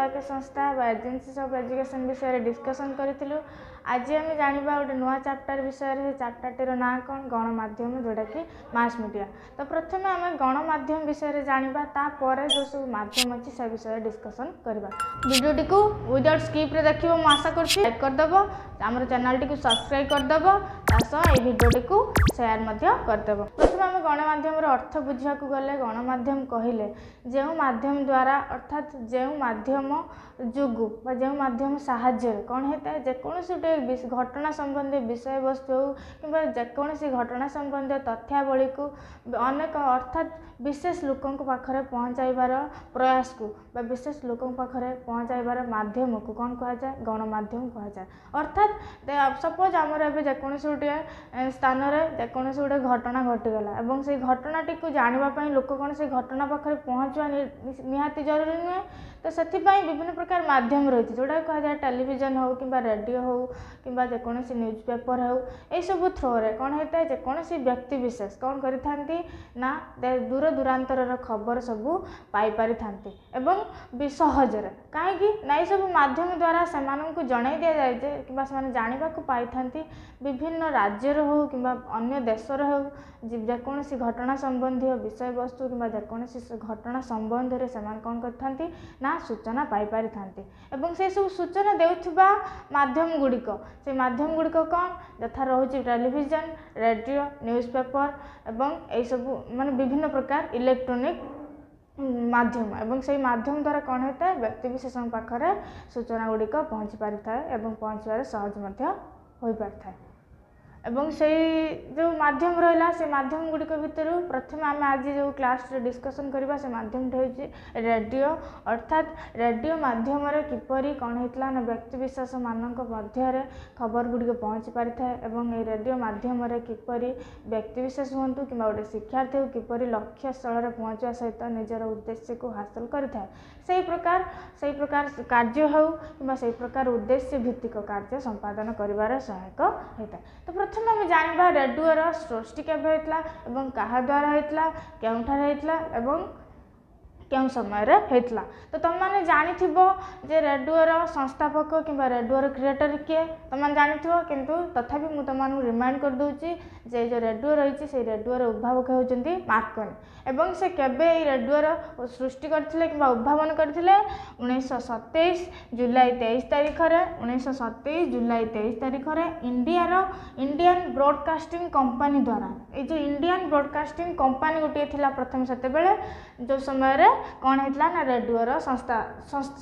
ନିର୍ବାହକ ସଂସ୍ଥା ବା ଏଜେନ୍ସିସ୍ of education ବିଷୟରେ ଡିସ୍କସନ୍ କରିଥିଲୁ। ଆଜି ଆମେ ଜାଣିବା ଗୋଟେ ନୂଆ ଚାପ୍ଟର ବିଷୟରେ। ସେ ଚାପ୍ଟରଟିର ନାଁ କ'ଣ? ଗଣମାଧ୍ୟମ, ଯେଉଁଟାକି ମାସ୍ ମିଡ଼ିଆ। ତ ପ୍ରଥମେ ଆମେ ଗଣମାଧ୍ୟମ ବିଷୟରେ ଜାଣିବା, ତାପରେ ଯେଉଁ ସବୁ ମାଧ୍ୟମ ଅଛି ସେ ବିଷୟରେ ଡିସ୍କସନ୍ କରିବା। ଭିଡ଼ିଓଟିକୁ ୱିଦାଉଟ୍ ସ୍କିପ୍ରେ ଦେଖିବ ମୁଁ ଆଶା କରୁଛି। ଲାଇକ୍ କରିଦେବ, ଆମର ଚ୍ୟାନେଲଟିକୁ ସବସ୍କ୍ରାଇବ୍ କରିଦେବ, ତା ସହ ଏଇ ଭିଡ଼ିଓଟିକୁ ସେୟାର ମଧ୍ୟ କରିଦେବ। ପ୍ରଥମେ ଆମେ ଗଣମାଧ୍ୟମର ଅର୍ଥ ବୁଝିବାକୁ ଗଲେ, ଗଣମାଧ୍ୟମ କହିଲେ ଯେଉଁ ମାଧ୍ୟମ ଦ୍ୱାରା, ଅର୍ଥାତ୍ ଯେଉଁ ମାଧ୍ୟମ ଯୋଗୁଁ ବା ଯେଉଁ ମାଧ୍ୟମ ସାହାଯ୍ୟରେ କ'ଣ ହେଇଥାଏ, ଯେକୌଣସି ଗୋଟେ ଘଟଣା ସମ୍ବନ୍ଧୀୟ ବିଷୟବସ୍ତୁ ହେଉ କିମ୍ବା ଯେକୌଣସି ଘଟଣା ସମ୍ବନ୍ଧୀୟ ତଥ୍ୟାବଳୀକୁ ଅନେକ, ଅର୍ଥାତ୍ ବିଶେଷ ଲୋକଙ୍କ ପାଖରେ ପହଞ୍ଚାଇବାର ପ୍ରୟାସକୁ ବା ବିଶେଷ ଲୋକଙ୍କ ପାଖରେ ପହଞ୍ଚାଇବାର ମାଧ୍ୟମକୁ କ'ଣ କୁହାଯାଏ? ଗଣମାଧ୍ୟମ କୁହାଯାଏ। ଅର୍ଥାତ୍ ସପୋଜ୍ ଆମର ଏବେ ଯେକୌଣସି ଗୋଟିଏ ସ୍ଥାନରେ ଯେକୌଣସି ଗୋଟେ ଘଟଣା ଘଟିଗଲା ଏବଂ ସେଇ ଘଟଣାଟିକୁ ଜାଣିବା ପାଇଁ ଲୋକ କ'ଣ ସେଇ ଘଟଣା ପାଖରେ ପହଞ୍ଚିବା ନିହାତି ଜରୁରୀ ନୁହେଁ। ତ ସେଥିପାଇଁ ବିଭିନ୍ନ ପ୍ରକାର ମାଧ୍ୟମ ରହିଛି, ଯେଉଁଟାକି କୁହାଯାଏ ଟେଲିଭିଜନ ହେଉ କିମ୍ବା ରେଡ଼ିଓ ହେଉ କିମ୍ବା ଯେକୌଣସି ନ୍ୟୁଜ୍ ପେପର୍ ହେଉ। ଏଇସବୁ ଥ୍ରୋରେ କ'ଣ ହେଇଥାଏ, ଯେକୌଣସି ବ୍ୟକ୍ତି ବିଶେଷ କ'ଣ କରିଥାନ୍ତି ନା ଦୂର ଦୂରାନ୍ତରର ଖବର ସବୁ ପାଇପାରିଥାନ୍ତି ଏବଂ ବି ସହଜରେ। କାହିଁକି ନା ଏଇସବୁ ମାଧ୍ୟମ ଦ୍ୱାରା ସେମାନଙ୍କୁ ଜଣାଇ ଦିଆଯାଏ ଯେ କିମ୍ବା ସେମାନେ ଜାଣିବାକୁ ପାଇଥାନ୍ତି, ବିଭିନ୍ନ ରାଜ୍ୟର ହେଉ କିମ୍ବା ଅନ୍ୟ ଦେଶର ହେଉ, ଯେକୌଣସି ଘଟଣା ସମ୍ବନ୍ଧୀୟ ବିଷୟବସ୍ତୁ କିମ୍ବା ଯେକୌଣସି ଘଟଣା ସମ୍ବନ୍ଧରେ ସେମାନେ କ'ଣ କରିଥାନ୍ତି ନା ସୂଚନା ପାଇପାରିଥାନ୍ତି। ଏବଂ ସେସବୁ ସୂଚନା ଦେଉଥିବା ମାଧ୍ୟମ ଗୁଡ଼ିକ, ସେ ମାଧ୍ୟମ ଗୁଡ଼ିକ କ'ଣ? ଯଥା ରହୁଛି ଟେଲିଭିଜନ, ରେଡ଼ିଓ, ନ୍ୟୁଜ୍ ପେପର୍ ଏବଂ ଏଇସବୁ ମାନେ ବିଭିନ୍ନ ପ୍ରକାର ଇଲେକ୍ଟ୍ରୋନିକ୍ ମାଧ୍ୟମ। ଏବଂ ସେଇ ମାଧ୍ୟମ ଦ୍ୱାରା କ'ଣ ହେଇଥାଏ, ବ୍ୟକ୍ତିବିଶେଷଙ୍କ ପାଖରେ ସୂଚନା ଗୁଡ଼ିକ ପହଞ୍ଚି ପାରିଥାଏ ଏବଂ ପହଞ୍ଚିବାରେ ସହଜ ମଧ୍ୟ ହୋଇପାରିଥାଏ। ଏବଂ ସେଇ ଯେଉଁ ମାଧ୍ୟମ ରହିଲା, ସେ ମାଧ୍ୟମ ଗୁଡ଼ିକ ଭିତରୁ ପ୍ରଥମେ ଆମେ ଆଜି ଯେଉଁ କ୍ଲାସ୍ରେ ଡିସ୍କସନ୍ କରିବା, ସେ ମାଧ୍ୟମଟି ହେଉଛି ରେଡ଼ିଓ। ଅର୍ଥାତ୍ ରେଡ଼ିଓ ମାଧ୍ୟମରେ କିପରି କ'ଣ ହେଇଥିଲା ନା ବ୍ୟକ୍ତିବିଶେଷମାନଙ୍କ ମଧ୍ୟରେ ଖବର ଗୁଡ଼ିକ ପହଞ୍ଚି ପାରିଥାଏ ଏବଂ ଏଇ ରେଡ଼ିଓ ମାଧ୍ୟମରେ କିପରି ବ୍ୟକ୍ତିବିଶେଷ ହୁଅନ୍ତୁ କିମ୍ବା ଗୋଟେ ଶିକ୍ଷାର୍ଥୀ ହେଉ, କିପରି ଲକ୍ଷ୍ୟସ୍ଥଳରେ ପହଞ୍ଚିବା ସହିତ ନିଜର ଉଦ୍ଦେଶ୍ୟକୁ ହାସଲ କରିଥାଏ, ସେଇ ପ୍ରକାର କାର୍ଯ୍ୟ ହେଉ କିମ୍ବା ସେଇ ପ୍ରକାର ଉଦ୍ଦେଶ୍ୟ ଭିତ୍ତିକ କାର୍ଯ୍ୟ ସମ୍ପାଦନ କରିବାରେ ସହାୟକ ହୋଇଥାଏ। ତ ପ୍ରଥମେ ଆମେ ଜାଣିବା ରେଡ଼ିଓର ସୃଷ୍ଟି କେବେ ହେଇଥିଲା ଏବଂ କାହା ଦ୍ୱାରା ହେଇଥିଲା, କେଉଁଠାରେ ହେଇଥିଲା ଏବଂ କେଉଁ ସମୟରେ ହେଇଥିଲା। ତ ତୁମେମାନେ ଜାଣିଥିବ ଯେ ରେଡ଼ିଓର ସଂସ୍ଥାପକ କିମ୍ବା ରେଡ଼ିଓର କ୍ରିଏଟର କିଏ, ତୁମେମାନେ ଜାଣିଥିବ। କିନ୍ତୁ ତଥାପି ମୁଁ ତୁମମାନଙ୍କୁ ରିମାଇଣ୍ଡ କରିଦେଉଛି ଯେ ଏଇ ଯେଉଁ ରେଡ଼ିଓ ରହିଛି, ସେଇ ରେଡ଼ିଓର ଉଦ୍ଭାବକ ହେଉଛନ୍ତି ମାର୍କୋନି। ଏବଂ ସେ କେବେ ଏଇ ରେଡ଼ିଓର ସୃଷ୍ଟି କରିଥିଲେ କିମ୍ବା ଉଦ୍ଭାବନ କରିଥିଲେ? 1927 ଜୁଲାଇ 23 ତାରିଖରେ। 1927 ଜୁଲାଇ 23 ତାରିଖରେ ଇଣ୍ଡିଆର ଇଣ୍ଡିଆନ୍ ବ୍ରଡ଼କାଷ୍ଟିଂ କମ୍ପାନୀ ଦ୍ୱାରା। ଏଇ ଯେଉଁ ଇଣ୍ଡିଆନ୍ ବ୍ରଡ଼କାଷ୍ଟିଂ କମ୍ପାନୀ ଗୋଟିଏ ଥିଲା ପ୍ରଥମେ ସେତେବେଳେ, ଯେଉଁ ସମୟରେ କ'ଣ ହେଇଥିଲା ନା ରେଡ଼ିଓର ସଂସ୍ଥା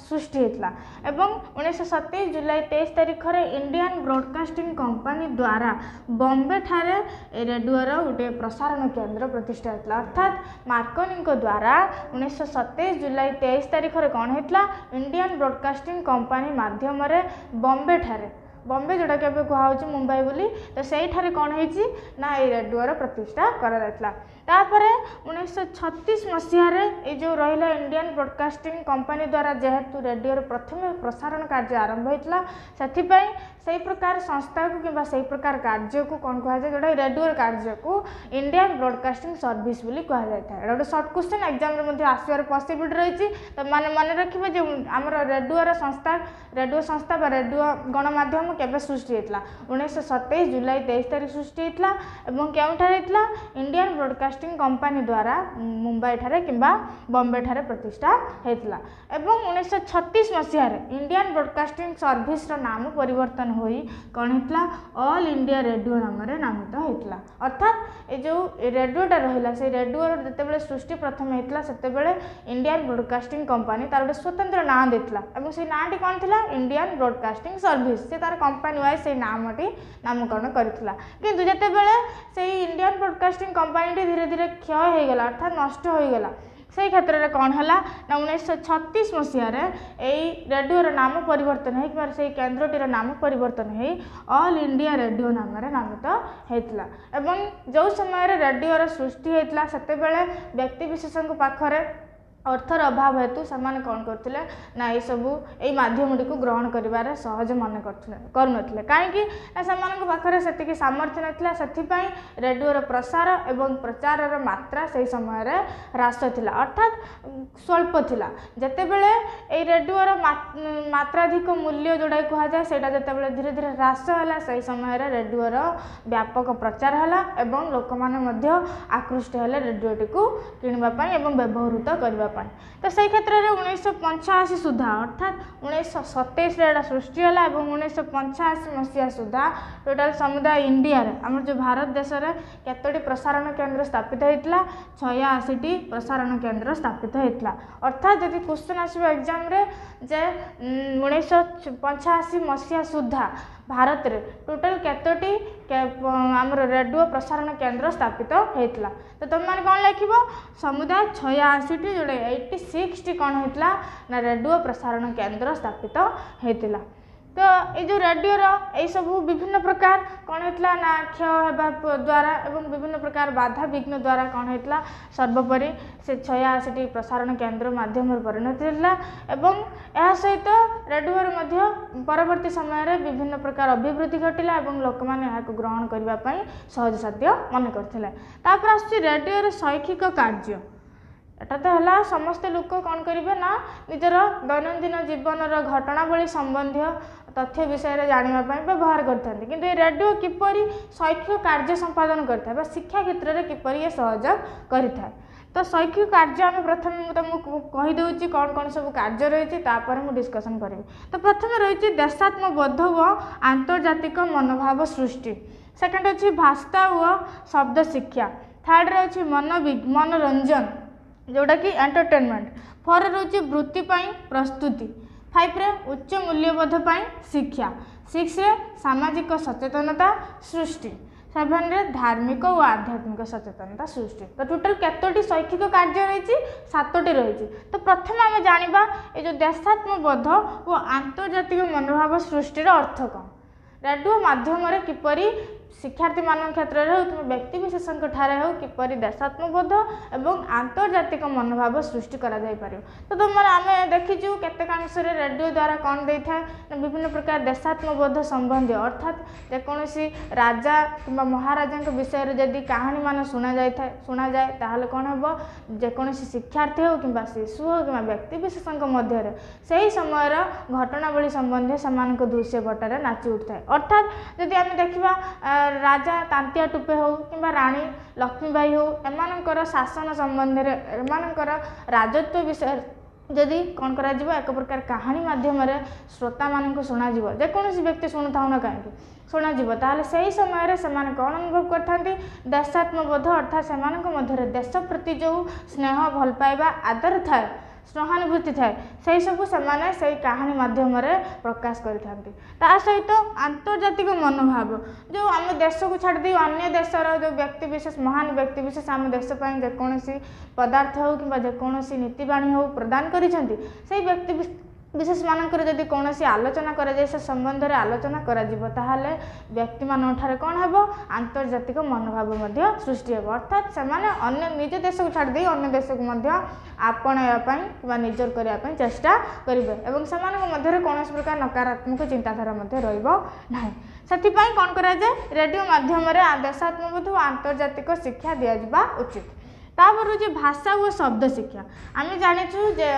ସୃଷ୍ଟି ହେଇଥିଲା। ଏବଂ 1927 ଜୁଲାଇ 23 ତାରିଖରେ ଇଣ୍ଡିଆନ୍ ବ୍ରଡ଼କାଷ୍ଟିଂ କମ୍ପାନୀ ଦ୍ୱାରା ବମ୍ବେ ଠାରେ ଏ ରେଡ଼ିଓର ଗୋଟିଏ ପ୍ରସାରଣ କେନ୍ଦ୍ର ପ୍ରତିଷ୍ଠା ହେଇଥିଲା। ଅର୍ଥାତ୍ ମାର୍କୋନିଙ୍କ ଦ୍ୱାରା 1927 ଜୁଲାଇ 23 ତାରିଖରେ କ'ଣ ହେଇଥିଲା? ଇଣ୍ଡିଆନ୍ ବ୍ରଡ଼କାଷ୍ଟିଂ କମ୍ପାନୀ ମାଧ୍ୟମରେ ବମ୍ବେ ଠାରେ, ବମ୍ବେ ଯେଉଁଟାକି ଏବେ କୁହାହେଉଛି ମୁମ୍ବାଇ ବୋଲି, ତ ସେଇଠାରେ କ'ଣ ହେଇଛି ନା ଏଇ ରେଡ଼ିଓର ପ୍ରତିଷ୍ଠା କରାଯାଇଥିଲା। ତାପରେ 1936 ମସିହାରେ ଏଇ ଯେଉଁ ରହିଲା ଇଣ୍ଡିଆନ୍ ବ୍ରଡ଼କାଷ୍ଟିଂ କମ୍ପାନୀ ଦ୍ୱାରା ଯେହେତୁ ରେଡ଼ିଓର ପ୍ରଥମେ ପ୍ରସାରଣ କାର୍ଯ୍ୟ ଆରମ୍ଭ ହୋଇଥିଲା, ସେଥିପାଇଁ ସେଇ ପ୍ରକାର ସଂସ୍ଥାକୁ କିମ୍ବା ସେଇ ପ୍ରକାର କାର୍ଯ୍ୟକୁ କ'ଣ କୁହାଯାଏ, ଯେଉଁଟା ରେଡ଼ିଓର କାର୍ଯ୍ୟକୁ ଇଣ୍ଡିଆନ୍ ବ୍ରଡ଼କାଷ୍ଟିଂ ସର୍ଭିସ୍ ବୋଲି କୁହାଯାଇଥାଏ। ଏଇଟା ଗୋଟେ ସର୍ଟ କ୍ୱେଶ୍ଚନ୍, ଏକ୍ଜାମ୍ରେ ମଧ୍ୟ ଆସିବାର ପସିବିଲିଟି ରହିଛି। ତ ମାନେ ମନେ ରଖିବେ ଯେ ଆମର ରେଡ଼ିଓର ସଂସ୍ଥା, ରେଡ଼ିଓ ସଂସ୍ଥା ବା ରେଡ଼ିଓ ଗଣମାଧ୍ୟମ କେବେ ସୃଷ୍ଟି ହେଇଥିଲା? 1927 ଜୁଲାଇ 23 ତାରିଖ ସୃଷ୍ଟି ହେଇଥିଲା। ଏବଂ କେଉଁଠାରେ ହେଇଥିଲା? ଇଣ୍ଡିଆନ୍ ବ୍ରଡ଼କାଷ୍ଟିଂ କମ୍ପାନୀ ଦ୍ୱାରା ମୁମ୍ବାଇଠାରେ କିମ୍ବା ବମ୍ବେଠାରେ ପ୍ରତିଷ୍ଠା ହେଇଥିଲା। ଏବଂ 1936 ମସିହାରେ ଇଣ୍ଡିଆନ୍ ବ୍ରଡ଼କାଷ୍ଟିଂ ସର୍ଭିସର ନାମ ପରିବର୍ତ୍ତନ ହୋଇ କ'ଣ ହେଇଥିଲା? ଅଲ୍ ଇଣ୍ଡିଆ ରେଡ଼ିଓ ନାମରେ ନାମିତ ହେଇଥିଲା। ଅର୍ଥାତ୍ ଏ ଯେଉଁ ରେଡ଼ିଓଟା ରହିଲା, ସେଇ ରେଡ଼ିଓର ଯେତେବେଳେ ସୃଷ୍ଟି ପ୍ରଥମେ ହେଇଥିଲା, ସେତେବେଳେ ଇଣ୍ଡିଆନ୍ ବ୍ରଡ଼କାଷ୍ଟିଂ କମ୍ପାନୀ ତାର ଗୋଟେ ସ୍ୱତନ୍ତ୍ର ନାଁ ଦେଇଥିଲା। ଏବଂ ସେଇ ନାଁଟି କ'ଣ ଥିଲା? Indian broadcasting service. ସେ ତାର କମ୍ପାନୀ ୱାଇଜ୍ ସେଇ ନାମଟି ନାମକରଣ କରିଥିଲା। କିନ୍ତୁ ଯେତେବେଳେ ସେଇ ଇଣ୍ଡିଆନ୍ ବ୍ରଡ଼କାଷ୍ଟିଂ କମ୍ପାନୀଟି ଧୀରେ ଧୀରେ କ୍ଷୟ ହୋଇଗଲା, ଅର୍ଥାତ୍ ନଷ୍ଟ ହୋଇଗଲା, ସେଇ କ୍ଷେତ୍ରରେ କ'ଣ ହେଲା ନା 1936 ମସିହାରେ ଏଇ ରେଡ଼ିଓର ନାମ ପରିବର୍ତ୍ତନ ହେଇ କିମ୍ବା ସେଇ କେନ୍ଦ୍ରଟିର ନାମ ପରିବର୍ତ୍ତନ ହେଇ ଅଲ୍ ଇଣ୍ଡିଆ ରେଡ଼ିଓ ନାମରେ ନାମିତ ହେଇଥିଲା। ଏବଂ ଯେଉଁ ସମୟରେ ରେଡ଼ିଓର ସୃଷ୍ଟି ହେଇଥିଲା, ସେତେବେଳେ ବ୍ୟକ୍ତିବିଶେଷଙ୍କ ପାଖରେ ଅର୍ଥର ଅଭାବ ହେତୁ ସେମାନେ କ'ଣ କରୁଥିଲେ ନା, ଏଇସବୁ ଏଇ ମାଧ୍ୟମଟିକୁ ଗ୍ରହଣ କରିବାରେ ସହଜ ମନେ କରୁନଥିଲେ। କାହିଁକି ନା ସେମାନଙ୍କ ପାଖରେ ସେତିକି ସାମର୍ଥ୍ୟ ନଥିଲା। ସେଥିପାଇଁ ରେଡ଼ିଓର ପ୍ରସାର ଏବଂ ପ୍ରଚାରର ମାତ୍ରା ସେହି ସମୟରେ ହ୍ରାସ ଥିଲା, ଅର୍ଥାତ୍ ସ୍ୱଳ୍ପ ଥିଲା। ଯେତେବେଳେ ଏଇ ରେଡ଼ିଓର ମାତ୍ରାଧିକ ମୂଲ୍ୟ ଯେଉଁଟାକି କୁହାଯାଏ, ସେଇଟା ଯେତେବେଳେ ଧୀରେ ଧୀରେ ହ୍ରାସ ହେଲା, ସେହି ସମୟରେ ରେଡ଼ିଓର ବ୍ୟାପକ ପ୍ରଚାର ହେଲା ଏବଂ ଲୋକମାନେ ମଧ୍ୟ ଆକୃଷ୍ଟ ହେଲେ ରେଡ଼ିଓଟିକୁ କିଣିବା ପାଇଁ ଏବଂ ବ୍ୟବହୃତ କରିବା ପାଇଁ। ତ ସେଇ କ୍ଷେତ୍ରରେ 1985 ସୁଦ୍ଧା, ଅର୍ଥାତ୍ 1927ରେ ଏଇଟା ସୃଷ୍ଟି ହେଲା ଏବଂ 1985 ମସିହା ସୁଦ୍ଧା ଟୋଟାଲ୍ ସମୁଦାୟ ଇଣ୍ଡିଆରେ, ଆମର ଯେଉଁ ଭାରତ ଦେଶରେ କେତୋଟି ପ୍ରସାରଣ କେନ୍ଦ୍ର ସ୍ଥାପିତ ହେଇଥିଲା? 86ଟି ପ୍ରସାରଣ କେନ୍ଦ୍ର ସ୍ଥାପିତ ହେଇଥିଲା। ଅର୍ଥାତ୍ ଯଦି କ୍ୱେଶ୍ଚନ୍ ଆସିବ ଏକ୍ଜାମ୍ରେ ଯେ 1985 ମସିହା ସୁଦ୍ଧା ଭାରତରେ ଟୋଟାଲ୍ କେତୋଟି ଆମର ରେଡ଼ିଓ ପ୍ରସାରଣ କେନ୍ଦ୍ର ସ୍ଥାପିତ ହେଇଥିଲା, ତ ତୁମେମାନେ କ'ଣ ଲେଖିବ? ସମୁଦାୟ 86ଟି, ଯେଉଁଟା 86ଟି କ'ଣ ହେଇଥିଲା ନା ରେଡ଼ିଓ ପ୍ରସାରଣ କେନ୍ଦ୍ର ସ୍ଥାପିତ ହେଇଥିଲା। ତ ଏଇ ଯେଉଁ ରେଡ଼ିଓର ଏଇସବୁ ବିଭିନ୍ନ ପ୍ରକାର କ'ଣ ହେଇଥିଲା ନା କ୍ଷୟ ହେବା ଦ୍ୱାରା ଏବଂ ବିଭିନ୍ନ ପ୍ରକାର ବାଧାବିଘ୍ନ ଦ୍ୱାରା କ'ଣ ହେଇଥିଲା, ସର୍ବୋପରି ସେ 86ଟି ପ୍ରସାରଣ କେନ୍ଦ୍ର ମାଧ୍ୟମରେ ପରିଣତ ହେଇଥିଲା। ଏବଂ ଏହା ସହିତ ରେଡ଼ିଓର ମଧ୍ୟ ପରବର୍ତ୍ତୀ ସମୟରେ ବିଭିନ୍ନ ପ୍ରକାର ଅଭିବୃଦ୍ଧି ଘଟିଲା ଏବଂ ଲୋକମାନେ ଏହାକୁ ଗ୍ରହଣ କରିବା ପାଇଁ ସହଜସାଧ୍ୟ ମନେ କରିଥିଲେ। ତାପରେ ଆସୁଛି ରେଡ଼ିଓର ଶୈକ୍ଷିକ କାର୍ଯ୍ୟ। ଏଟା ତ ହେଲା ସମସ୍ତେ ଲୋକ କ'ଣ କରିବେ ନା ନିଜର ଦୈନନ୍ଦିନ ଜୀବନର ଘଟଣାବଳୀ ସମ୍ବନ୍ଧୀୟ ତଥ୍ୟ ବିଷୟରେ ଜାଣିବା ପାଇଁ ବ୍ୟବହାର କରିଥାନ୍ତି। କିନ୍ତୁ ଏ ରେଡ଼ିଓ କିପରି ଶୈକ୍ଷିକ କାର୍ଯ୍ୟ ସମ୍ପାଦନ କରିଥାଏ ବା ଶିକ୍ଷା କ୍ଷେତ୍ରରେ କିପରି ଏ ସହଯୋଗ କରିଥାଏ? ତ ଶୈକ୍ଷିକ କାର୍ଯ୍ୟ ଆମେ ପ୍ରଥମେ ମୁଁ ତୁମକୁ କହିଦେଉଛି କ'ଣ କ'ଣ ସବୁ କାର୍ଯ୍ୟ ରହିଛି, ତାପରେ ମୁଁ ଡିସ୍କସନ୍ କରିବି। ତ ପ୍ରଥମେ ରହିଛି ଦେଶାତ୍ମବୋଧ ଓ ଆନ୍ତର୍ଜାତିକ ମନୋଭାବ ସୃଷ୍ଟି। ସେକେଣ୍ଡ ଅଛି ଭାଷା ଓ ଶବ୍ଦ ଶିକ୍ଷା। ଥାର୍ଡ଼ରେ ଅଛି ମନୋରଞ୍ଜନ, ଯେଉଁଟାକି ଏଣ୍ଟରଟେନମେଣ୍ଟ। ଫୋର୍ରେ ରହୁଛି ବୃତ୍ତି ପାଇଁ ପ୍ରସ୍ତୁତି। ଫାଇଭରେ ଉଚ୍ଚ ମୂଲ୍ୟବୋଧ ପାଇଁ ଶିକ୍ଷା। ସିକ୍ସରେ ସାମାଜିକ ସଚେତନତା ସୃଷ୍ଟି। ସେଭେନରେ ଧାର୍ମିକ ଓ ଆଧ୍ୟାତ୍ମିକ ସଚେତନତା ସୃଷ୍ଟି। ତ ଟୋଟାଲ୍ କେତୋଟି ଶୈକ୍ଷିକ କାର୍ଯ୍ୟ ରହିଛି? 7ଟି ରହିଛି। ତ ପ୍ରଥମେ ଆମେ ଜାଣିବା ଏ ଯେଉଁ ଦେଶାତ୍ମବୋଧ ଓ ଆନ୍ତର୍ଜାତିକ ମନୋଭାବ ସୃଷ୍ଟିର ଅର୍ଥ କ'ଣ, ରେଡ଼ିଓ ମାଧ୍ୟମରେ କିପରି ଶିକ୍ଷାର୍ଥୀମାନଙ୍କ କ୍ଷେତ୍ରରେ ହେଉ କିମ୍ବା ବ୍ୟକ୍ତିବିଶେଷଙ୍କ ଠାରେ ହେଉ କିପରି ଦେଶାତ୍ମବୋଧ ଏବଂ ଆନ୍ତର୍ଜାତିକ ମନୋଭାବ ସୃଷ୍ଟି କରାଯାଇପାରିବ। ତ ତୁମର ଆମେ ଦେଖିଛୁ କେତେକାଂଶରେ ରେଡ଼ିଓ ଦ୍ୱାରା କ'ଣ ଦେଇଥାଏ ନା ବିଭିନ୍ନ ପ୍ରକାର ଦେଶାତ୍ମବୋଧ ସମ୍ବନ୍ଧୀୟ, ଅର୍ଥାତ୍ ଯେକୌଣସି ରାଜା କିମ୍ବା ମହାରାଜାଙ୍କ ବିଷୟରେ ଯଦି କାହାଣୀମାନ ଶୁଣାଯାଇଥାଏ, ଶୁଣାଯାଏ, ତାହେଲେ କ'ଣ ହେବ? ଯେକୌଣସି ଶିକ୍ଷାର୍ଥୀ ହେଉ କିମ୍ବା ଶିଶୁ ହେଉ କିମ୍ବା ବ୍ୟକ୍ତିବିଶେଷଙ୍କ ମଧ୍ୟରେ ସେହି ସମୟର ଘଟଣାବଳୀ ସମ୍ବନ୍ଧୀୟ ସେମାନଙ୍କ ଦୃଶ୍ୟପଟରେ ନାଚି ଉଠିଥାଏ। ଅର୍ଥାତ୍ ଯଦି ଆମେ ଦେଖିବା ରାଜା ତାନ୍ତିଆ ଟୁପେ ହେଉ କିମ୍ବା ରାଣୀ ଲକ୍ଷ୍ମୀବାଇ ହେଉ, ଏମାନଙ୍କର ଶାସନ ସମ୍ବନ୍ଧରେ, ଏମାନଙ୍କର ରାଜତ୍ୱ ବିଷୟରେ ଯଦି କ'ଣ କରାଯିବ, ଏକ ପ୍ରକାର କାହାଣୀ ମାଧ୍ୟମରେ ଶ୍ରୋତାମାନଙ୍କୁ ଶୁଣାଯିବ, ଯେକୌଣସି ବ୍ୟକ୍ତି ଶୁଣୁଥାଉ ନା କାହିଁକି ଶୁଣାଯିବ, ତାହେଲେ ସେହି ସମୟରେ ସେମାନେ କ'ଣ ଅନୁଭବ କରିଥାନ୍ତି? ଦେଶାତ୍ମବୋଧ। ଅର୍ଥାତ୍ ସେମାନଙ୍କ ମଧ୍ୟରେ ଦେଶ ପ୍ରତି ଯେଉଁ ସ୍ନେହ, ଭଲ ପାଇବା, ଆଦର ଥାଏ, ସହାନୁଭୂତି ଥାଏ, ସେହିସବୁ ସେମାନେ ସେଇ କାହାଣୀ ମାଧ୍ୟମରେ ପ୍ରକାଶ କରିଥାନ୍ତି। ତା ସହିତ ଆନ୍ତର୍ଜାତିକ ମନୋଭାବ, ଯେଉଁ ଆମ ଦେଶକୁ ଛାଡ଼ିଦେଇ ଅନ୍ୟ ଦେଶର ଯେଉଁ ବ୍ୟକ୍ତିବିଶେଷ, ମହାନ ବ୍ୟକ୍ତିବିଶେଷ ଆମ ଦେଶ ପାଇଁ ଯେକୌଣସି ପଦାର୍ଥ ହେଉ କିମ୍ବା ଯେକୌଣସି ନୀତିବାଣୀ ହେଉ ପ୍ରଦାନ କରିଛନ୍ତି, ସେଇ ବ୍ୟକ୍ତି ବିଶେଷ ମାନଙ୍କର ଯଦି କୌଣସି ଆଲୋଚନା କରାଯାଏ, ସେ ସମ୍ବନ୍ଧରେ ଆଲୋଚନା କରାଯିବ, ତାହେଲେ ବ୍ୟକ୍ତିମାନଙ୍କ ଠାରେ କ'ଣ ହେବ? ଆନ୍ତର୍ଜାତିକ ମନୋଭାବ ମଧ୍ୟ ସୃଷ୍ଟି ହେବ। ଅର୍ଥାତ୍ ସେମାନେ ଅନ୍ୟ ନିଜ ଦେଶକୁ ଛାଡ଼ିଦେଇ ଅନ୍ୟ ଦେଶକୁ ମଧ୍ୟ ଆପଣାଇବା ପାଇଁ କିମ୍ବା ନିଜର କରିବା ପାଇଁ ଚେଷ୍ଟା କରିବେ ଏବଂ ସେମାନଙ୍କ ମଧ୍ୟରେ କୌଣସି ପ୍ରକାର ନକାରାତ୍ମକ ଚିନ୍ତାଧାରା ମଧ୍ୟ ରହିବ ନାହିଁ। ସେଥିପାଇଁ କ'ଣ କରାଯାଏ? ରେଡ଼ିଓ ମାଧ୍ୟମରେ ଦେଶାତ୍ମବୋଧ ଓ ଆନ୍ତର୍ଜାତିକ ଶିକ୍ଷା ଦିଆଯିବା ଉଚିତ। ତାପରେ ହେଉଛି ଭାଷା ଓ ଶବ୍ଦ ଶିକ୍ଷା। ଆମେ ଜାଣିଛୁ ଯେ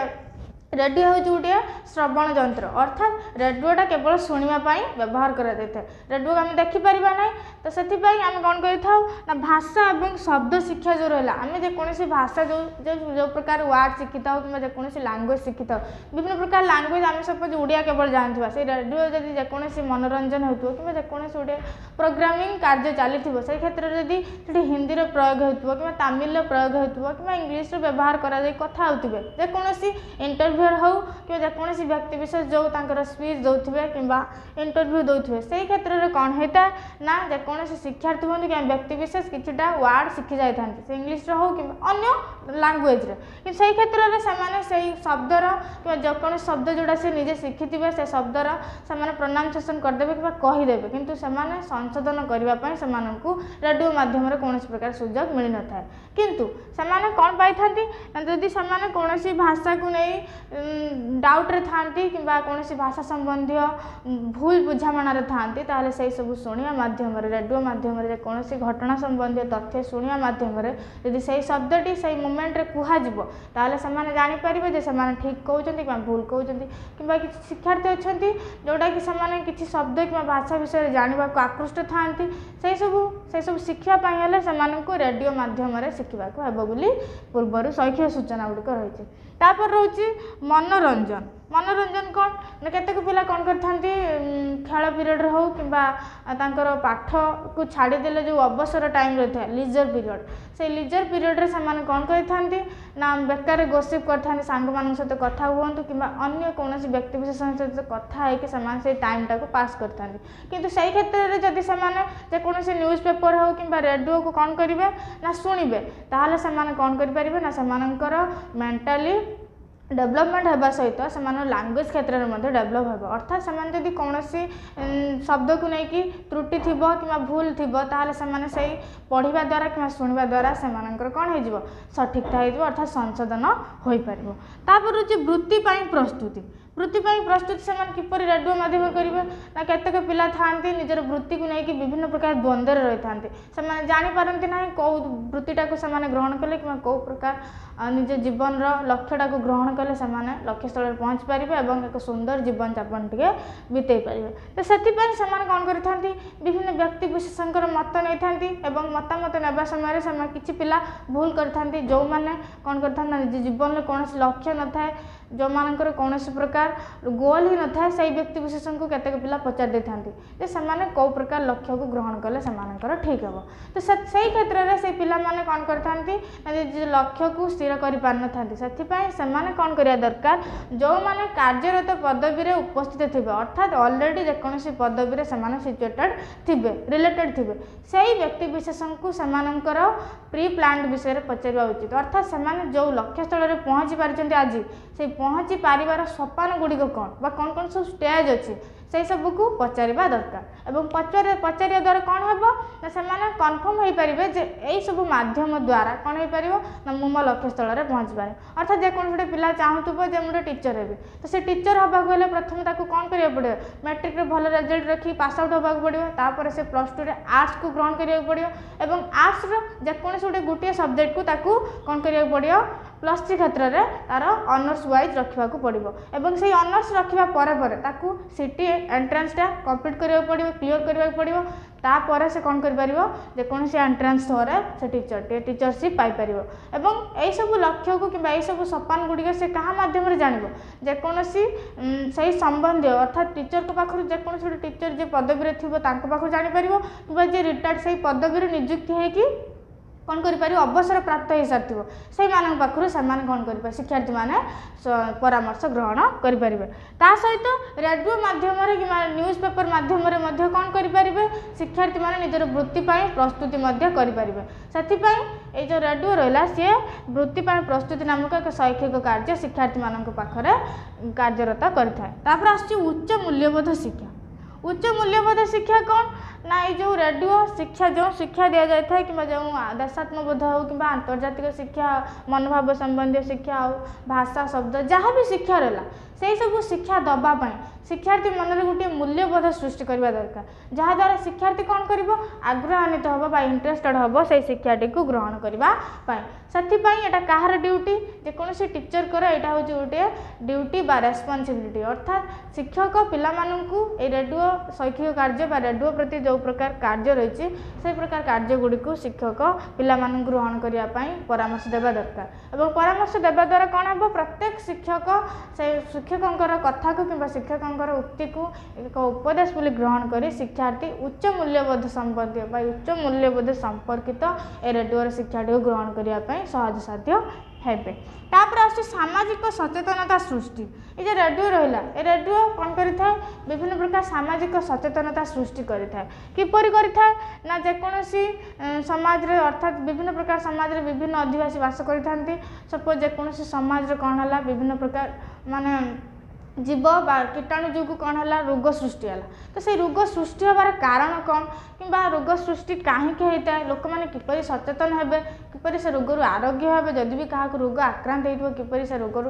ରେଡ଼ିଓ ହେଉଛି ଗୋଟିଏ ଶ୍ରବଣ ଯନ୍ତ୍ର, ଅର୍ଥାତ୍ ରେଡ଼ିଓଟା କେବଳ ଶୁଣିବା ପାଇଁ ବ୍ୟବହାର କରାଯାଇଥାଏ। ରେଡ଼ିଓକୁ ଆମେ ଦେଖିପାରିବା ନାହିଁ। ତ ସେଥିପାଇଁ ଆମେ କ'ଣ କରିଥାଉ ନା ଭାଷା ଏବଂ ଶବ୍ଦ ଶିକ୍ଷା ଯେଉଁ ରହିଲା, ଆମେ ଯେକୌଣସି ଭାଷା ଯେଉଁ ଯେଉଁ ପ୍ରକାର ୱାର୍ଡ଼ ଶିଖିଥାଉ କିମ୍ବା ଯେକୌଣସି ଲାଙ୍ଗୁଏଜ୍ ଶିଖିଥାଉ, ବିଭିନ୍ନ ପ୍ରକାର ଲାଙ୍ଗୁଏଜ୍, ଆମେ ସପୋଜ୍ ଓଡ଼ିଆ କେବଳ ଜାଣିଥିବା, ସେଇ ରେଡ଼ିଓ ଯଦି ଯେକୌଣସି ମନୋରଞ୍ଜନ ହେଉଥିବ କିମ୍ବା ଯେକୌଣସି ଗୋଟିଏ ପ୍ରୋଗ୍ରାମିଂ କାର୍ଯ୍ୟ ଚାଲିଥିବ, ସେଇ କ୍ଷେତ୍ରରେ ଯଦି ସେଠି ହିନ୍ଦୀର ପ୍ରୟୋଗ ହେଉଥିବ କିମ୍ବା ତାମିଲର ପ୍ରୟୋଗ ହେଉଥିବ କିମ୍ବା ଇଂଲିଶର ବ୍ୟବହାର କରାଯାଇ କଥା ହେଉଥିବେ, ଯେକୌଣସି ଇଣ୍ଟରଭ୍ୟୁ ଇଣ୍ଟରଭ୍ୟୁଅର ହେଉ କିମ୍ବା ଯେକୌଣସି ବ୍ୟକ୍ତି ବିଶେଷ ଯେଉଁ ତାଙ୍କର ସ୍ପିଚ୍ ଦେଉଥିବେ କିମ୍ବା ଇଣ୍ଟରଭ୍ୟୁ ଦେଉଥିବେ, ସେଇ କ୍ଷେତ୍ରରେ କ'ଣ ହେଇଥାଏ ନା ଯେକୌଣସି ଶିକ୍ଷାର୍ଥୀ ହୁଅନ୍ତୁ କିମ୍ବା ବ୍ୟକ୍ତି ବିଶେଷ କିଛିଟା ୱାର୍ଡ଼ ଶିଖି ଯାଇଥାନ୍ତି, ସେ ଇଂଲିଶରେ ହେଉ କିମ୍ବା ଅନ୍ୟ ଲାଙ୍ଗୁଏଜରେ। କିନ୍ତୁ ସେଇ କ୍ଷେତ୍ରରେ ସେମାନେ ସେଇ ଶବ୍ଦର କିମ୍ବା ଯେକୌଣସି ଶବ୍ଦ ଯେଉଁଟା ସେ ନିଜେ ଶିଖିଥିବେ, ସେ ଶବ୍ଦର ସେମାନେ ପ୍ରନାଉନ୍ସିଏସନ୍ କରିଦେବେ କିମ୍ବା କହିଦେବେ, କିନ୍ତୁ ସେମାନେ ସଂଶୋଧନ କରିବା ପାଇଁ ସେମାନଙ୍କୁ ରେଡ଼ିଓ ମାଧ୍ୟମରେ କୌଣସି ପ୍ରକାର ସୁଯୋଗ ମିଳିନଥାଏ। କିନ୍ତୁ ସେମାନେ କ'ଣ ପାଇଥାନ୍ତି ନା ଯଦି ସେମାନେ କୌଣସି ଭାଷାକୁ ନେଇ ଡାଉଟ୍ରେ ଥାଆନ୍ତି କିମ୍ବା କୌଣସି ଭାଷା ସମ୍ବନ୍ଧୀୟ ଭୁଲ ବୁଝାମଣାରେ ଥାଆନ୍ତି, ତାହେଲେ ସେଇ ସବୁ ଶୁଣିବା ମାଧ୍ୟମରେ, ରେଡ଼ିଓ ମାଧ୍ୟମରେ ଯେକୌଣସି ଘଟଣା ସମ୍ବନ୍ଧୀୟ ତଥ୍ୟ ଶୁଣିବା ମାଧ୍ୟମରେ ଯଦି ସେଇ ଶବ୍ଦଟି ସେଇ ମୁମେଣ୍ଟରେ କୁହାଯିବ, ତାହେଲେ ସେମାନେ ଜାଣିପାରିବେ ଯେ ସେମାନେ ଠିକ୍ କହୁଛନ୍ତି କିମ୍ବା ଭୁଲ କହୁଛନ୍ତି। କିମ୍ବା କିଛି ଶିକ୍ଷାର୍ଥୀ ଅଛନ୍ତି ଯେଉଁଟାକି ସେମାନେ କିଛି ଶବ୍ଦ କିମ୍ବା ଭାଷା ବିଷୟରେ ଜାଣିବାକୁ ଆକୃଷ୍ଟ ଥାଆନ୍ତି, ସେସବୁ ଶିଖିବା ପାଇଁ ହେଲେ ସେମାନଙ୍କୁ ରେଡ଼ିଓ ମାଧ୍ୟମରେ ଶିଖିବାକୁ ହେବ ବୋଲି ପୂର୍ବରୁ ଶୈକ୍ଷିକ ସୂଚନା ଗୁଡ଼ିକ ରହିଛି। ତାପରେ ରହୁଛି ମନୋରଞ୍ଜନ। ମନୋରଞ୍ଜନ କ'ଣ ନା କେତେକ ପିଲା କ'ଣ କରିଥାନ୍ତି, ଖେଳ ପିରିୟଡ଼ରେ ହେଉ କିମ୍ବା ତାଙ୍କର ପାଠକୁ ଛାଡ଼ିଦେଲେ ଯେଉଁ ଅବସର ଟାଇମ୍ ରହିଥାଏ, ଲିଜର ପିରିୟଡ଼, ସେଇ ଲିଜର ପିରିୟଡ଼ରେ ସେମାନେ କ'ଣ କରିଥାନ୍ତି ନା ବେକାରରେ ଗୋସିପ୍ କରିଥାନ୍ତି, ସାଙ୍ଗମାନଙ୍କ ସହିତ କଥା ହୁଅନ୍ତୁ କିମ୍ବା ଅନ୍ୟ କୌଣସି ବ୍ୟକ୍ତି ବିଶେଷଙ୍କ ସହିତ କଥା ହେଇକି ସେମାନେ ସେଇ ଟାଇମ୍ଟାକୁ ପାସ୍ କରିଥାନ୍ତି। କିନ୍ତୁ ସେଇ କ୍ଷେତ୍ରରେ ଯଦି ସେମାନେ ଯେକୌଣସି ନ୍ୟୁଜ୍ ପେପର୍ ହେଉ କିମ୍ବା ରେଡ଼ିଓକୁ କ'ଣ କରିବେ ନା ଶୁଣିବେ, ତାହେଲେ ସେମାନେ କ'ଣ କରିପାରିବେ ନା ସେମାନଙ୍କର ମେଣ୍ଟାଲି ଡେଭଲପମେଣ୍ଟ ହେବା ସହିତ ସେମାନଙ୍କ ଲାଙ୍ଗୁଏଜ୍ କ୍ଷେତ୍ରରେ ମଧ୍ୟ ଡେଭଲପ୍ ହେବ। ଅର୍ଥାତ୍ ସେମାନେ ଯଦି କୌଣସି ଶବ୍ଦକୁ ନେଇକି ତ୍ରୁଟି ଥିବ କିମ୍ବା ଭୁଲ ଥିବ, ତାହେଲେ ସେମାନେ ସେଇ ପଢ଼ିବା ଦ୍ୱାରା କିମ୍ବା ଶୁଣିବା ଦ୍ୱାରା ସେମାନଙ୍କର କ'ଣ ହେଇଯିବ, ସଠିକତା ହେଇଯିବ, ଅର୍ଥାତ୍ ସଂଶୋଧନ ହୋଇପାରିବ। ତାପରେ ହେଉଛି ବୃତ୍ତି ପାଇଁ ପ୍ରସ୍ତୁତି। ବୃତ୍ତି ପାଇଁ ପ୍ରସ୍ତୁତି ସେମାନେ କିପରି ରେଡ଼ିଓ ମାଧ୍ୟମରେ କରିବେ ନା କେତେକ ପିଲା ଥାଆନ୍ତି ନିଜର ବୃତ୍ତିକୁ ନେଇକି ବିଭିନ୍ନ ପ୍ରକାର ଦ୍ୱନ୍ଦ୍ୱରେ ରହିଥାନ୍ତି। ସେମାନେ ଜାଣିପାରନ୍ତି ନାହିଁ କେଉଁ ବୃତ୍ତିଟାକୁ ସେମାନେ ଗ୍ରହଣ କଲେ କିମ୍ବା କେଉଁ ପ୍ରକାର ନିଜ ଜୀବନର ଲକ୍ଷ୍ୟଟାକୁ ଗ୍ରହଣ କଲେ ସେମାନେ ଲକ୍ଷ୍ୟସ୍ଥଳରେ ପହଞ୍ଚି ପାରିବେ ଏବଂ ଏକ ସୁନ୍ଦର ଜୀବନଯାପନ ଟିକେ ବିତେଇ ପାରିବେ। ତ ସେଥିପାଇଁ ସେମାନେ କ'ଣ କରିଥାନ୍ତି, ବିଭିନ୍ନ ବ୍ୟକ୍ତି ବିଶେଷଙ୍କର ମତ ନେଇଥାନ୍ତି ଏବଂ ମତାମତ ନେବା ସମୟରେ ସେମାନେ କିଛି ପିଲା ଭୁଲ କରିଥାନ୍ତି, ଯେଉଁମାନେ କ'ଣ କରିଥାନ୍ତି ନା ନିଜ ଜୀବନରେ କୌଣସି ଲକ୍ଷ୍ୟ ନଥାଏ, ଯେଉଁମାନଙ୍କର କୌଣସି ପ୍ରକାର ଗୋଲ୍ ହିଁ ନଥାଏ, ସେଇ ବ୍ୟକ୍ତି ବିଶେଷଙ୍କୁ କେତେକ ପିଲା ପଚାରି ଦେଇଥାନ୍ତି ଯେ ସେମାନେ କେଉଁ ପ୍ରକାର ଲକ୍ଷ୍ୟକୁ ଗ୍ରହଣ କଲେ ସେମାନଙ୍କର ଠିକ୍ ହେବ। ତ ସେଇ କ୍ଷେତ୍ରରେ ସେଇ ପିଲାମାନେ କ'ଣ କରିଥାନ୍ତି ନା ନିଜ ଲକ୍ଷ୍ୟକୁ ସ୍ଥିର କରିପାରିନଥାନ୍ତି। ସେଥିପାଇଁ ସେମାନେ କ'ଣ କରିବା ଦରକାର, ଯେଉଁମାନେ କାର୍ଯ୍ୟରତ ପଦବୀରେ ଉପସ୍ଥିତ ଥିବେ, ଅର୍ଥାତ୍ ଅଲରେଡ଼ି ଯେକୌଣସି ପଦବୀରେ ସେମାନେ ସିଚୁଏଟେଡ଼ ଥିବେ, ରିଲେଟେଡ଼ ଥିବେ, ସେଇ ବ୍ୟକ୍ତି ବିଶେଷଙ୍କୁ ସେମାନଙ୍କର ପ୍ରି ପ୍ଲାନ୍ଡ ବିଷୟରେ ପଚାରିବା ଉଚିତ। ଅର୍ଥାତ୍ ସେମାନେ ଯେଉଁ ଲକ୍ଷ୍ୟସ୍ଥଳରେ ପହଞ୍ଚି ପାରିଛନ୍ତି ଆଜି, ସେଇ ପହଞ୍ଚି ପାରିବାର ସୋପାନ ଗୁଡ଼ିକ କ'ଣ ବା କ'ଣ କ'ଣ ସବୁ ଷ୍ଟେଜ୍ ଅଛି, ସେଇ ସବୁକୁ ପଚାରିବା ଦରକାର। ଏବଂ ପଚାରିବା ଦ୍ୱାରା କ'ଣ ହେବ ନା ସେମାନେ କନଫର୍ମ ହୋଇପାରିବେ ଯେ ଏଇସବୁ ମାଧ୍ୟମ ଦ୍ୱାରା କ'ଣ ହେଇପାରିବ ନା ମୁଁ ମୋ ଲକ୍ଷ୍ୟସ୍ଥଳରେ ପହଞ୍ଚିପାରିବି। ଅର୍ଥାତ୍ ଯେକୌଣସି ଗୋଟେ ପିଲା ଚାହୁଁଥିବ ଯେ ମୁଁ ଗୋଟେ ଟିଚର୍ ହେବି, ତ ସେ ଟିଚର୍ ହେବାକୁ ହେଲେ ପ୍ରଥମେ ତାକୁ କ'ଣ କରିବାକୁ ପଡ଼ିବ, ମ୍ୟାଟ୍ରିକ୍ରେ ଭଲ ରେଜଲ୍ଟ ରଖି ପାସ୍ ଆଉଟ୍ ହେବାକୁ ପଡ଼ିବ, ତାପରେ ସେ +2ରେ ଆର୍ଟ୍ସକୁ ଗ୍ରହଣ କରିବାକୁ ପଡ଼ିବ ଏବଂ ଆର୍ଟ୍ସର ଯେକୌଣସି ଗୋଟିଏ ସବଜେକ୍ଟକୁ ତାକୁ କ'ଣ କରିବାକୁ ପଡ଼ିବ, +3 କ୍ଷେତ୍ରରେ ତାର ଅନର୍ସ ୱାଇଜ୍ ରଖିବାକୁ ପଡ଼ିବ ଏବଂ ସେଇ ଅନର୍ସ ରଖିବା ପରେ ପରେ ତାକୁ ସିଟି ଏଣ୍ଟ୍ରାନ୍ସଟା କମ୍ପ୍ଲିଟ୍ କରିବାକୁ ପଡ଼ିବ, କ୍ଲିଅର୍ କରିବାକୁ ପଡ଼ିବ। ତାପରେ ସେ କ'ଣ କରିପାରିବ, ଯେକୌଣସି ଏଣ୍ଟ୍ରାନ୍ସ ଥ୍ରୋରେ ସେ ଟିଚରସିପ୍ ପାଇପାରିବ। ଏବଂ ଏଇସବୁ ଲକ୍ଷ୍ୟକୁ କିମ୍ବା ଏଇସବୁ ସୋପାନ ଗୁଡ଼ିକ ସେ କାହା ମାଧ୍ୟମରେ ଜାଣିବ, ଯେକୌଣସି ସେଇ ସମ୍ବନ୍ଧୀୟ ଅର୍ଥାତ୍ ଟିଚରଙ୍କ ପାଖରୁ, ଯେକୌଣସି ଗୋଟେ ଟିଚର ଯିଏ ପଦବୀରେ ଥିବ ତାଙ୍କ ପାଖରୁ ଜାଣିପାରିବ କିମ୍ବା ଯିଏ ରିଟାୟାର୍ଡ଼ ସେଇ ପଦବୀରୁ ନିଯୁକ୍ତି ହେଇକି କ'ଣ କରିପାରିବ, ଅବସର ପ୍ରାପ୍ତ ହେଇସାରିଥିବ ସେଇମାନଙ୍କ ପାଖରୁ ସେମାନେ କ'ଣ କରିପାରିବେ, ଶିକ୍ଷାର୍ଥୀମାନେ ପରାମର୍ଶ ଗ୍ରହଣ କରିପାରିବେ। ତା ସହିତ ରେଡ଼ିଓ ମାଧ୍ୟମରେ କିମ୍ବା ନ୍ୟୁଜ୍ ପେପର୍ ମାଧ୍ୟମରେ ମଧ୍ୟ କ'ଣ କରିପାରିବେ, ଶିକ୍ଷାର୍ଥୀମାନେ ନିଜର ବୃତ୍ତି ପାଇଁ ପ୍ରସ୍ତୁତି ମଧ୍ୟ କରିପାରିବେ। ସେଥିପାଇଁ ଏଇ ଯେଉଁ ରେଡ଼ିଓ ରହିଲା ସିଏ ବୃତ୍ତି ପାଇଁ ପ୍ରସ୍ତୁତି ନାମକ ଏକ ଶୈକ୍ଷିକ କାର୍ଯ୍ୟ ଶିକ୍ଷାର୍ଥୀମାନଙ୍କ ପାଖରେ କାର୍ଯ୍ୟରତ କରିଥାଏ। ତାପରେ ଆସୁଛି ଉଚ୍ଚ ମୂଲ୍ୟବୋଧ ଶିକ୍ଷା। ଉଚ୍ଚ ମୂଲ୍ୟବୋଧ ଶିକ୍ଷା କ'ଣ ନା ଏଇ ଯେଉଁ ରେଡ଼ିଓ ଶିକ୍ଷା, ଯେଉଁ ଶିକ୍ଷା ଦିଆଯାଇଥାଏ କିମ୍ବା ଯେଉଁ ଦେଶାତ୍ମବୋଧ ହେଉ କିମ୍ବା ଆନ୍ତର୍ଜାତିକ ଶିକ୍ଷା, ମନୋଭାବ ସମ୍ବନ୍ଧୀୟ ଶିକ୍ଷା ହେଉ, ଭାଷା ଶବ୍ଦ ଯାହା ବି ଶିକ୍ଷା ରହିଲା, ସେଇ ସବୁ ଶିକ୍ଷା ଦେବା ପାଇଁ ଶିକ୍ଷାର୍ଥୀ ମନରେ ଗୋଟିଏ ମୂଲ୍ୟବୋଧ ସୃଷ୍ଟି କରିବା ଦରକାର, ଯାହାଦ୍ୱାରା ଶିକ୍ଷାର୍ଥୀ କ'ଣ କରିବ, ଆଗ୍ରହାନ୍ୱିତ ହେବ ବା ଇଣ୍ଟରେଷ୍ଟେଡ଼ ହେବ ସେଇ ଶିକ୍ଷାଟିକୁ ଗ୍ରହଣ କରିବା ପାଇଁ। ସେଥିପାଇଁ ଏଇଟା କାହାର ଡ୍ୟୁଟି, ଯେକୌଣସି ଟିଚରଙ୍କର ଏଇଟା ହେଉଛି ଗୋଟିଏ ଡ୍ୟୁଟି ବା ରେସ୍ପନ୍ସିବିଲିଟି। ଅର୍ଥାତ୍ ଶିକ୍ଷକ ପିଲାମାନଙ୍କୁ ଏଇ ରେଡ଼ିଓ ଶୈକ୍ଷିକ କାର୍ଯ୍ୟ ବା ରେଡ଼ିଓ ପ୍ରତି ଯେଉଁ ପ୍ରକାର କାର୍ଯ୍ୟ ରହିଛି ସେଇ ପ୍ରକାର କାର୍ଯ୍ୟ ଗୁଡ଼ିକୁ ଶିକ୍ଷକ ପିଲାମାନଙ୍କୁ ଗ୍ରହଣ କରିବା ପାଇଁ ପରାମର୍ଶ ଦେବା ଦରକାର। ଏବଂ ପରାମର୍ଶ ଦେବା ଦ୍ୱାରା କ'ଣ ହେବ, ପ୍ରତ୍ୟେକ ଶିକ୍ଷକ ସେ ଶିକ୍ଷକଙ୍କର କଥାକୁ କିମ୍ବା ଶିକ୍ଷକଙ୍କର ଉକ୍ତିକୁ ଏକ ଉପଦେଶ ବୋଲି ଗ୍ରହଣ କରି ଶିକ୍ଷାର୍ଥୀ ଉଚ୍ଚ ମୂଲ୍ୟବୋଧ ସମ୍ବନ୍ଧୀୟ ବା ଉଚ୍ଚ ମୂଲ୍ୟବୋଧ ସମ୍ପର୍କିତ ଏ ରେଡ଼ିଓର ଶିକ୍ଷାଟିକୁ ଗ୍ରହଣ କରିବା ପାଇଁ ସହଜସାଧ୍ୟ ହେବେ। ତାପରେ ଆସୁଛି ସାମାଜିକ ସଚେତନତା ସୃଷ୍ଟି। ଏ ଯେଉଁ ରେଡ଼ିଓ ରହିଲା, ଏ ରେଡ଼ିଓ କ'ଣ କରିଥାଏ? ବିଭିନ୍ନ ପ୍ରକାର ସାମାଜିକ ସଚେତନତା ସୃଷ୍ଟି କରିଥାଏ। କିପରି କରିଥାଏ ନା, ଯେକୌଣସି ସମାଜରେ, ଅର୍ଥାତ୍ ବିଭିନ୍ନ ପ୍ରକାର ସମାଜରେ ବିଭିନ୍ନ ଅଧିବାସୀ ବାସ କରିଥାନ୍ତି। ସପୋଜ୍ ଯେକୌଣସି ସମାଜରେ କ'ଣ ହେଲା, ବିଭିନ୍ନ ପ୍ରକାର ମାନେ ଜୀବ ବା କୀଟାଣୁ ଯୋଗୁଁ କ'ଣ ହେଲା, ରୋଗ ସୃଷ୍ଟି ହେଲା। ତ ସେଇ ରୋଗ ସୃଷ୍ଟି ହେବାର କାରଣ କ'ଣ କିମ୍ବା ରୋଗ ସୃଷ୍ଟି କାହିଁକି ହେଇଥାଏ, ଲୋକମାନେ କିପରି ସଚେତନ ହେବେ, କିପରି ସେ ରୋଗରୁ ଆରୋଗ୍ୟ ହେବେ, ଯଦି ବି କାହାକୁ ରୋଗ ଆକ୍ରାନ୍ତ ହେଇଥିବ କିପରି ସେ ରୋଗରୁ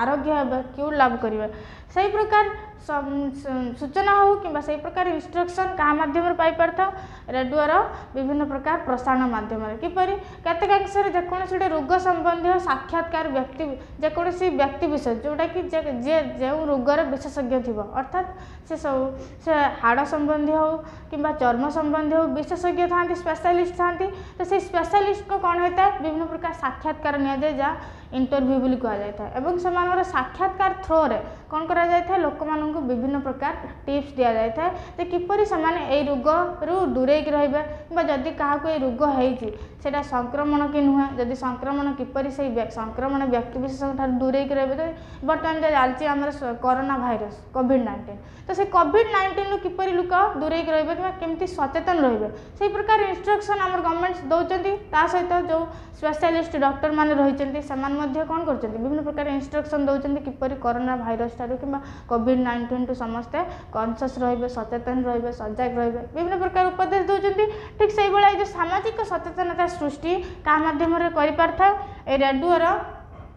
ଆରୋଗ୍ୟ ହେବେ, କ୍ୟୁର୍ ଲାଭ କରିବେ, ସେଇ ପ୍ରକାର ସୂଚନା ହେଉ କିମ୍ବା ସେଇ ପ୍ରକାର ଇନଷ୍ଟ୍ରକ୍ସନ୍ କାହା ମାଧ୍ୟମରେ ପାଇପାରିଥାଉ? ରେଡ଼ିଓର ବିଭିନ୍ନ ପ୍ରକାର ପ୍ରସାରଣ ମାଧ୍ୟମରେ। କିପରି? କେତେକାଂଶରେ ଯେକୌଣସି ଗୋଟେ ରୋଗ ସମ୍ବନ୍ଧୀୟ ସାକ୍ଷାତକାର ବ୍ୟକ୍ତି, ଯେକୌଣସି ବ୍ୟକ୍ତି ବିଶେଷ, ଯେଉଁଟାକି ଯିଏ ଯେଉଁ ରୋଗର ବିଶେଷଜ୍ଞ ଥିବ, ଅର୍ଥାତ୍ ସେ ସବୁ ସେ ହାଡ଼ ସମ୍ବନ୍ଧୀୟ ହେଉ କିମ୍ବା ଚର୍ମ ସମ୍ବନ୍ଧୀୟ ହେଉ, ବିଶେଷଜ୍ଞ ଥାନ୍ତି, ସ୍ପେଶାଲିଷ୍ଟ ଥାନ୍ତି। ତ ସେଇ ସ୍ପେଶାଲିଷ୍ଟଙ୍କ କ'ଣ ହେଇଥାଏ, ବିଭିନ୍ନ ପ୍ରକାର ସାକ୍ଷାତକାର ନିଆଯାଏ, ଯାହା ଇଣ୍ଟରଭ୍ୟୁ ବୋଲି କୁହାଯାଇଥାଏ। ଏବଂ ସେମାନଙ୍କର ସାକ୍ଷାତକାର ଥ୍ରୋରେ କ'ଣ କରାଯାଇଥାଏ? ଲୋକମାନଙ୍କୁ ବିଭିନ୍ନ ପ୍ରକାର ଟିପ୍ସ ଦିଆଯାଇଥାଏ ଯେ କିପରି ସେମାନେ ଏଇ ରୋଗରୁ ଦୂରେଇକି ରହିବେ, କିମ୍ବା ଯଦି କାହାକୁ ଏଇ ରୋଗ ହେଇଛି ସେଇଟା ସଂକ୍ରମଣ କି ନୁହେଁ, ଯଦି ସଂକ୍ରମଣ କିପରି ସେଇ ସଂକ୍ରମଣ ବ୍ୟକ୍ତି ବିଶେଷଙ୍କ ଠାରୁ ଦୂରେଇକି ରହିବେ। ତ ବର୍ତ୍ତମାନ ଯେଉଁ ଚାଲିଛି ଆମର କରୋନା ଭାଇରସ୍ କୋଭିଡ଼-19, ତ ସେ କୋଭିଡ଼-19ରୁ କିପରି ଲୋକ ଦୂରେଇକି ରହିବେ କିମ୍ବା କେମିତି ସଚେତନ ରହିବେ, ସେଇ ପ୍ରକାର ଇନଷ୍ଟ୍ରକ୍ସନ୍ ଆମର ଗଭର୍ଣ୍ଣମେଣ୍ଟ ଦେଉଛନ୍ତି। ତା ସହିତ ଯେଉଁ ସ୍ପେଶାଲିଷ୍ଟ ଡକ୍ଟରମାନେ ରହିଛନ୍ତି, ସେମାନେ ମଧ୍ୟ କ'ଣ କରୁଛନ୍ତି? ବିଭିନ୍ନ ପ୍ରକାର ଇନଷ୍ଟ୍ରକ୍ସନ୍ ଦେଉଛନ୍ତି କିପରି କରୋନା ଭାଇରସ୍ ଠାରୁ କିମ୍ବା କୋଭିଡ଼-19ଠୁ ସମସ୍ତେ କନସିୟସ୍ ରହିବେ, ସଚେତନ ରହିବେ, ସଜାଗ ରହିବେ, ବିଭିନ୍ନ ପ୍ରକାର ଉପଦେଶ ଦେଉଛନ୍ତି। ଠିକ୍ ସେଇଭଳିଆ ଏଇ ଯେଉଁ ସାମାଜିକ ସଚେତନତା ସୃଷ୍ଟି କାହା ମାଧ୍ୟମରେ କରିପାରିଥାଉ? ଏଇ ରେଡ଼ିଓର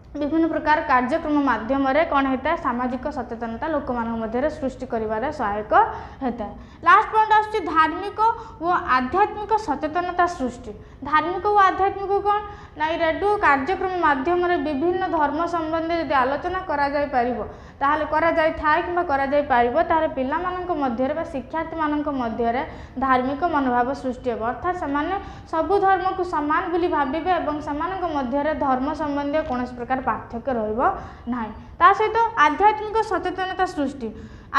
ବିଭିନ୍ନ ପ୍ରକାର କାର୍ଯ୍ୟକ୍ରମ ମାଧ୍ୟମରେ କ'ଣ ହେଇଥାଏ? ସାମାଜିକ ସଚେତନତା ଲୋକମାନଙ୍କ ମଧ୍ୟରେ ସୃଷ୍ଟି କରିବାରେ ସହାୟକ ହେଇଥାଏ। ଲାଷ୍ଟ ପଏଣ୍ଟ ଆସୁଛି ଧାର୍ମିକ ଓ ଆଧ୍ୟାତ୍ମିକ ସଚେତନତା ସୃଷ୍ଟି। ଧାର୍ମିକ ଓ ଆଧ୍ୟାତ୍ମିକ କ'ଣ ନା, ଏଇ ରେଡ଼ିଓ କାର୍ଯ୍ୟକ୍ରମ ମାଧ୍ୟମରେ ବିଭିନ୍ନ ଧର୍ମ ସମ୍ବନ୍ଧୀୟ ଯଦି ଆଲୋଚନା କରାଯାଇପାରିବ, ତାହେଲେ କରାଯାଇଥାଏ କିମ୍ବା କରାଯାଇପାରିବ, ତାହେଲେ ପିଲାମାନଙ୍କ ମଧ୍ୟରେ ବା ଶିକ୍ଷାର୍ଥୀମାନଙ୍କ ମଧ୍ୟରେ ଧାର୍ମିକ ମନୋଭାବ ସୃଷ୍ଟି ହେବ। ଅର୍ଥାତ୍ ସେମାନେ ସବୁ ଧର୍ମକୁ ସମାନ ବୋଲି ଭାବିବେ ଏବଂ ସେମାନଙ୍କ ମଧ୍ୟରେ ଧର୍ମ ସମ୍ବନ୍ଧୀୟ କୌଣସି ପ୍ରକାର ପାର୍ଥକ୍ୟ ରହିବ ନାହିଁ। ତା ସହିତ ଆଧ୍ୟାତ୍ମିକ ସଚେତନତା ସୃଷ୍ଟି।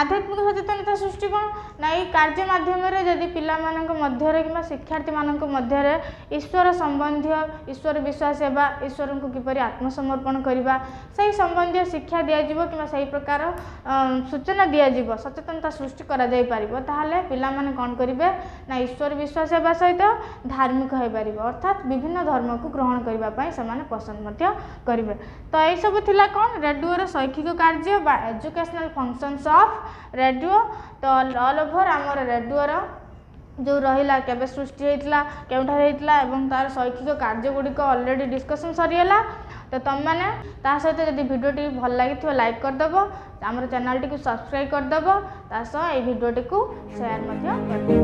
ଆଧ୍ୟାତ୍ମିକ ସଚେତନତା ସୃଷ୍ଟି କ'ଣ ନା, ଏଇ କାର୍ଯ୍ୟ ମାଧ୍ୟମରେ ଯଦି ପିଲାମାନଙ୍କ ମଧ୍ୟରେ କିମ୍ବା ଶିକ୍ଷାର୍ଥୀମାନଙ୍କ ମଧ୍ୟରେ ଈଶ୍ୱର ସମ୍ବନ୍ଧୀୟ, ଈଶ୍ୱର ବିଶ୍ୱାସ ହେବା, ଈଶ୍ୱରଙ୍କୁ କିପରି ଆତ୍ମସମର୍ପଣ କରିବା, ସେହି ସମ୍ବନ୍ଧୀୟ ଶିକ୍ଷା ଦିଆଯିବ କିମ୍ବା ସେହି ପ୍ରକାର ସୂଚନା ଦିଆଯିବ, ସଚେତନତା ସୃଷ୍ଟି କରାଯାଇପାରିବ, ତାହେଲେ ପିଲାମାନେ କ'ଣ କରିବେ ନା, ଈଶ୍ୱର ବିଶ୍ୱାସ ହେବା ସହିତ ଧାର୍ମିକ ହୋଇପାରିବେ। ଅର୍ଥାତ୍ ବିଭିନ୍ନ ଧର୍ମକୁ ଗ୍ରହଣ କରିବା ପାଇଁ ସେମାନେ ପସନ୍ଦ ମଧ୍ୟ କରିବେ। ତ ଏଇସବୁ ଥିଲା କ'ଣ ରେଡ଼ିଓର ଶୈକ୍ଷିକ କାର୍ଯ୍ୟ ବା ଏଜୁକେସନାଲ୍ ଫଙ୍କସନ୍ସ ଅଫ୍ ରେଡ଼ିଓ। ତ ଅଲ୍ ଓଭର୍ ଆମର ରେଡ଼ିଓର ଯେଉଁ ରହିଲା, କେବେ ସୃଷ୍ଟି ହେଇଥିଲା, କେଉଁଠାରେ ହେଇଥିଲା ଏବଂ ତା'ର ଶୈକ୍ଷିକ କାର୍ଯ୍ୟ ଗୁଡ଼ିକ ଅଲରେଡ଼ି ଡିସ୍କସନ୍ ସରିଗଲା। ତ ତୁମେମାନେ ତା ସହିତ ଯଦି ଭିଡ଼ିଓଟି ଭଲ ଲାଗିଥିବ ଲାଇକ୍ କରିଦେବ, ଆମର ଚ୍ୟାନେଲଟିକୁ ସବସ୍କ୍ରାଇବ୍ କରିଦେବ, ତା ସହ ଏଇ ଭିଡ଼ିଓଟିକୁ ସେୟାର ମଧ୍ୟ କରିଦେବ।